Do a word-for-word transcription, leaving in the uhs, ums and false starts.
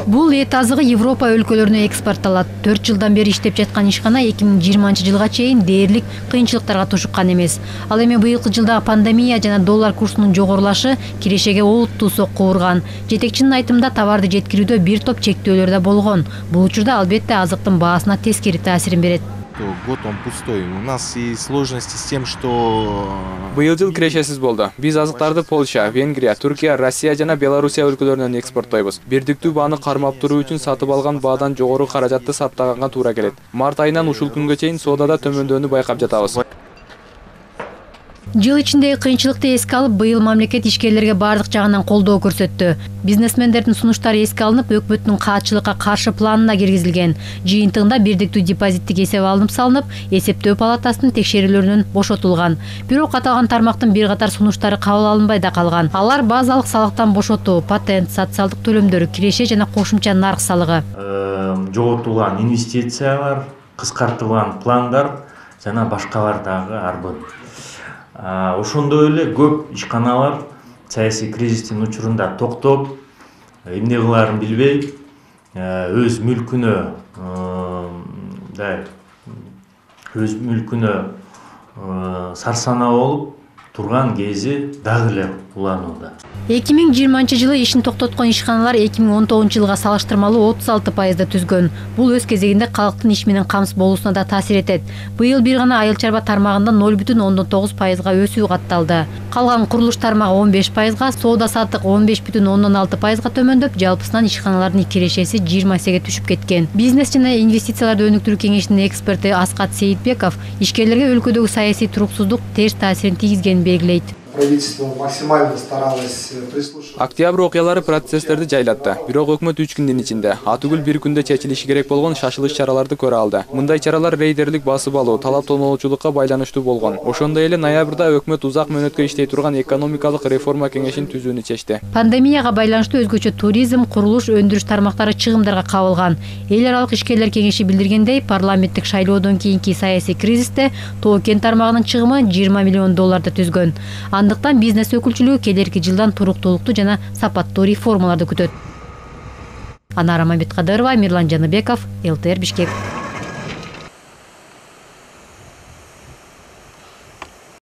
Бул эт азыгы Европа өлкөлөрүнө экспортталат. төрт жылдан бери иштеп жаткан ишкана эки миң жыйырманчы жылга чейин дээрлик кыйынчылыктарга тушуккан эмес. Ал эми быйылкы жылдагы пандемия жана доллар курсунун жогорулашы кирешеге олуттуу сокку урган. Жетекчинин айтымында товарды жеткирүүдө бир топ чектөөлөр да болгон. Бул учурда албетте азыктын баасына тескери таасирин берет. Год он пустой. У нас и сложности с тем, что быйыл жыл кирешесиз болду. Биз азыктарды Польша, Венгрия, Түркия, Россия жана Белоруссия өлкөлөрүнөн экспорттойбуз. Бирдиктүү бааны кармап туруу үчүн сатып алган баадан жогору каражатты саптаганга туура келет. Март айынан ушул күнгө чейин соодада төмөндөөнү байкап жатабыз. Жыл ичиндеги кыйынчылыкты эске алып, быйыл мамлекет ишкерлерге бардык жагынан колдоо көрсөттү. Бизнесмендердин сунуштары эске алынып, өкмөттүн каатчылыкка каршы планына киргизилген. Жыйынтыгында бирдиктүү депозиттик эсеп алынып салынып, эсептөө палатасынын текшерүүлөрүнөн бошотулган. Бирок аталган тармактын бир катар сунуштары кабыл алынбай да калган. Алар базалык салыктан бошотуу, патент, социалдык төлөмдөр, киреше жана кошумча нарк салыгы. Жоготулган инвестициялар, кыскартылган пландар жана башкалар дагы арбын. Ошондой эле көп ишканалар саясий кризистин учурунда токтоп, эмне кылаарын билбей, өз мүлкүнө өз мүлкүнө сарсанаа болуп турган кези дагы эле уланууда. эки миң жыйырманчы жылы ишин токтоткон ишканалар эки миң он тогузунчу жылга салыштырмалуу отуз алты пайызды түзгөн. Бул өз кезегинде калктын иш менен камсыз болуусуна да таасир этет. Быйыл бир гана айыл чарба тармагында ноль бүтүн ондон тогуз пайызга өсүү катталды. Калган курулуш тармагы он беш пайызга, соода саттык он беш бүтүн ондон алты пайызга төмөндөп, жалпысынан ишканалардын кирешеси жыйырма эсеге түшүп кеткен. Бизнес жана инвестицияларды өнүктүрүү кеңешинин эксперти Аскат Сейитбеков ишкерлерге өлкөдөгү саясий туруксуздук терс таасирин тийгизгенин белгилейт. Правительство максимально старалось прислушиваться. Октябрь окуялары процесстерди жайлатты. Бирок өкмөт үч күндүн ичинде, атүгүл бир күндө чечилиши керек болгон шашылыш чараларды көрө алды. Мындай чаралар рейдерлик басып алуу, талап тоноочулукка байланыштуу болгон. Ошондой эле ноябрда өкмөт узак мөөнөткө иштей турган экономикалык реформа кеңешин түзүүнү чечти. Пандемияга байланыштуу өзгөчө туризм, курулуш, өндүрүш тармактары чыгымдарга кабылган. Эл аралык ишкерлер кеңеши билдиргендей, парламенттик шайлоодон кийинки саясий кризисте Тоо-Кен тармагынын чыгымы жыйырма миллион долларды түзгөн. Андыктан бизнес өкүлчүлүгү келерки жылдан туруктуулукту жана сапаттуу реформаларды күтөт. Анара Маметкадырова, Мирлан Жаныбеков, эл тэ эр Бишкек.